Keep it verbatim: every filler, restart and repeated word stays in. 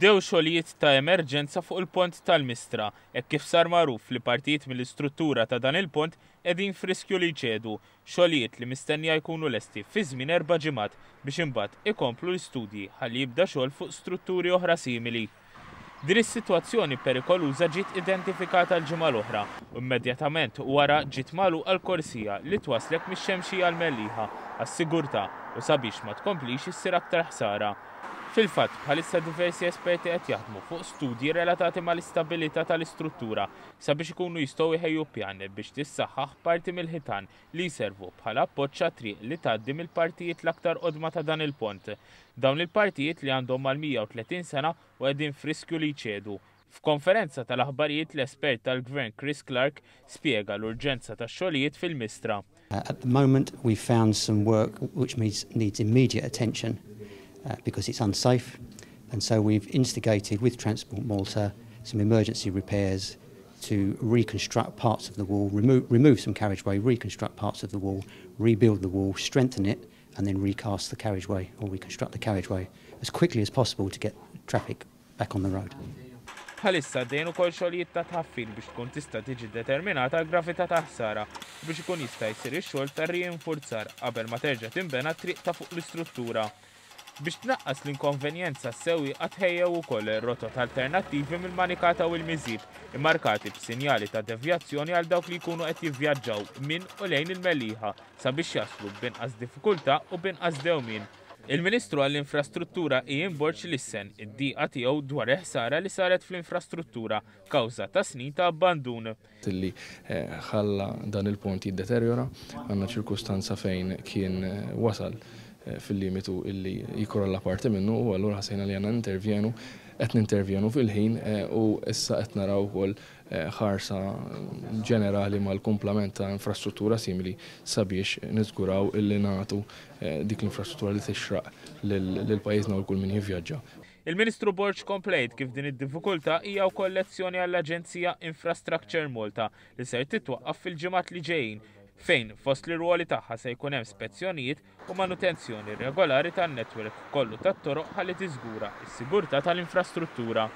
Bdew xogħlijiet ta' emerġenza fuq il-pont tal-Mistra, hekk kif sar magħruf li partijiet mill-istruttura ta' dan il-pont qegħdin f'riskju li jċedu, xogħlijiet li mistennija jkunu lesti fi żmien erba' ġimgħat biex imbagħad ikomplu l-istudji ħalli jibda xogħol fuq strutturi oħra simili. Din is-sitwazzjoni perikoluża ġiet identifikata l-ġimgħa l-oħra u immedjatament wara ġiet magħluqa l-korsija li twaslek mix-Xemxija l-Mellieħa għas-sigurtà u sabiex ma tkomplix issir aktar ħsara. Fil-fatt, bħalissa diversi esperti qed jaħdmu fuq studji relatati mal-istabilità tal-istruttura sabiex ikunu jistgħu jħejju pjan biex tissaħħaħ parti mill-ħitan li jservu bħala appoġġ għat-triq li tgħaddi mill-partijiet l-aktar qodma ta' dan il-pont. Dawn il-partijiet li għandhom mal-mija u tletin sena u qegħdin f'riskju li jċedu. F'konferenza tal-aħbarijiet, l-espert tal-Gvern Chris Clark spjega l-urġenza tax-xogħlijiet fil-Mistra. At the moment we found some work which needs, needs immediate attention uh, because it's unsafe, and so we've instigated with Transport Malta some emergency repairs to reconstruct parts of the wall, remo-, remove some carriageway, reconstruct parts of the wall, rebuild the wall, strengthen it, and then recast the carriageway or reconstruct the carriageway as quickly as possible to get traffic back on the road. Bħalissa għaddejjin ukoll xogħlijiet ta' tħaffir biex tkun tista' tiġi determinata l-gravità ta' ħsara biex ikun jista' jsir ix-xogħol ta' rinforzar qabel ma terġa' tinbena triq ta' fuq l-istruttura. Biex tnaqqas l-inkonvenjenza, s-sewwieqa tħejjew ukoll rotot alternattivi mill-Manikata u l-Miżieb, immarkati b'sinjali ta' devjazzjoni għal dawk li jkunu qed jivvjaġġaw minn u lejn il-Mellieħa sabiex jaslu b'inqas diffikultà u b'inqas dewmien. Il-Ministru għall-Infrastruttura Ian Borg lissen id-diqa tiegħu dwar il-ħsara li saret fl-infrastruttura kawża ta' snin ta' abbandun. Illi, eh, ħalla dan il-pont jiddeterjora, għandna ċirkustanza fejn kien, eh, wasal, eh, fil-limitu illi jikrolla parti minnu, u allura ħassejna li għandna nintervjenu, qed nintervjenu fil-ħin, eh, u issa qed naraw ukoll, eh, ħarsa ġenerali mal-kumplament ta' infrastruttura simili sabiex niżguraw illi nagħtu, eh, dik l-infrastruttura li tixraq lil, lil pajjiżna u kull min jivvjaġġa. Il-Ministru Borg komplejt kif din id-diffikultà hija wkoll lezzjoni għall-Aġenzija Infrastructure Malta li ser titwaqqaf fil-ġimgħat li ġejjin, fejn fost l-irwoli tagħha se jkun hemm spezzjonijiet u manutenzjoni regolari tan-netwerk kollu tat-toroq ħalli tiżgura s-sigurtà tal-infrastruttura.